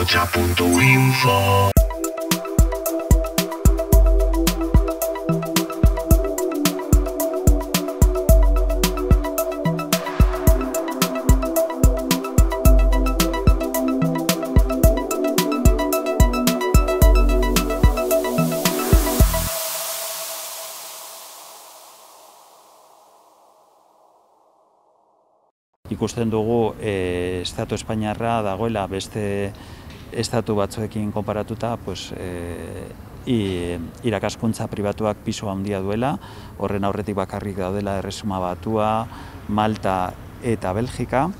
ahotsa.info. Ikusten dugu Estatu Espainiarra dagoela beste estatu batzuekin konparatuta irakaskuntza pribatuak pisu handia duela, horren aurretik bakarrik daudela Erresuma Batua, Malta eta Belgika.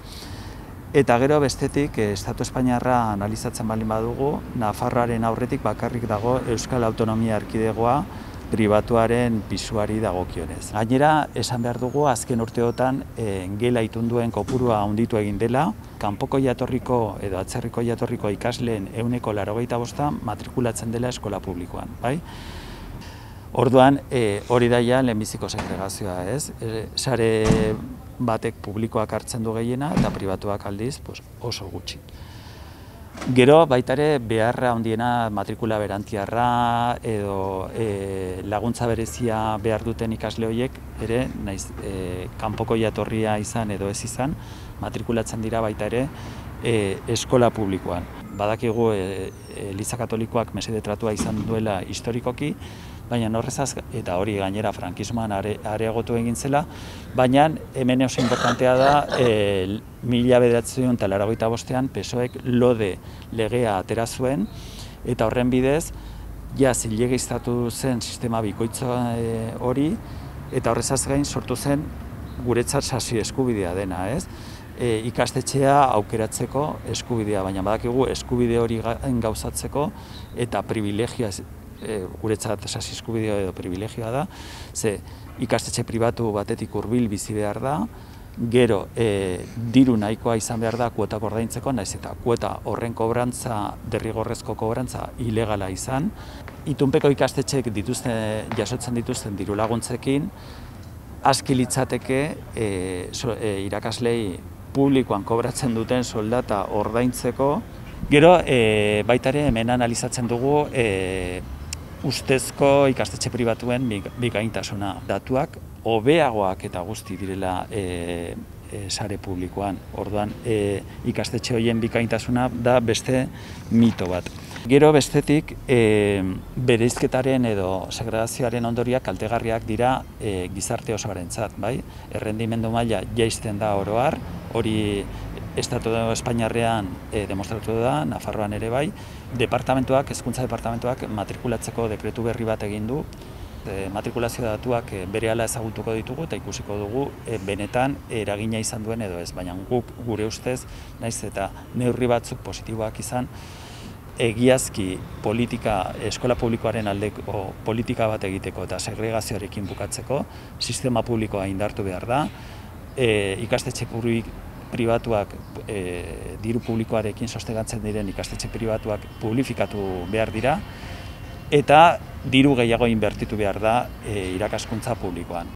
Eta gero bestetik Estatu Espainiarra analizatzen baldin badugu, Nafarroaren aurretik bakarrik dago Euskal Autonomia Erkidegoa pribatuaren pisuari dagokionez. Gainera, esan behar dugu, azken urteotan gela itunduen kopurua handitu egin dela, kanpoko jatorriko edo atzerriko jatorriko ikasleen 85% matrikulatzen dela eskola publikoan, bai? Orduan, hori da ja lehenbiziko segregazioa, ez? Sare batek publikoak hartzen du gehiena eta pribatuak aldiz oso gutxi. Gero baita ere beharra handiena matrikula berantiarra edo laguntza berezia behar duten ikasle horiek ere, naiz kanpoko jatorria izan edo ez izan, matrikulatzen dira baita ere eskola publikoan. Badakigu Eliza Katolikoak mesede tratua izan duela historikoki, baina horrezaz, eta hori gainera frankismoan areagotu egin zela, baina hemen oso importantea da 1985an PSOEk lode legea atera zuen, eta horren bidez, ja zilegiztatu zen sistema bikoitza hori, eta horrezaz gain sortu zen guretzat sasi eskubidea dena, ez? Ikastetxea aukeratzeko eskubidea, baina badakigu eskubide hori gauzatzeko eta privilegioa, guretzat sasi eskubidea edo privilegioa da, ze ikastetxe pribatu batetik hurbil bizi behar da, gero diru nahikoa izan behar da kuotak ordaintzeko, naiz eta kuota horren kobrantza, derrigorrezko kobrantza ilegala izan. Itunpeko ikastetxeek jasotzen dituzten diru laguntzekin, aski litzateke irakaslei publikoan kobratzen duten soldata ordaintzeko. Gero, baita ere hemen analizatzen dugu ustezko ikastetxe pribatuen bikaintasuna. Datuak hobeagoak eta guzti direla sare publikoan. Orduan, ikastetxe horien bikaintasuna da beste mito bat. Gero bestetik, bereizketaren edo segregazioaren ondoriak kaltegarriak dira gizarte osoarentzat, bai? Errendimendu maila jaisten da oro har, hori Estatu Espainiarrean demostratu da, Nafarroan ere bai. Hezkuntza departamentuak matrikulatzeko dekretu berri bat egin du. Matrikulazio datuak berehala ezagutuko ditugu eta ikusiko dugu benetan eragina izan duen edo ez, baina guk gure ustez, naiz eta neurri batzuk positiboak izan, egiazki eskola publikoaren aldeko politika bat egiteko eta segregazioarekin bukatzeko, sistema publikoa indartu behar da, ikastetxe pribatuak, diru publikoarekin sostengatzen diren ikastetxe pribatuak publifikatu behar dira, eta diru gehiago inbertitu behar da irakaskuntza publikoan.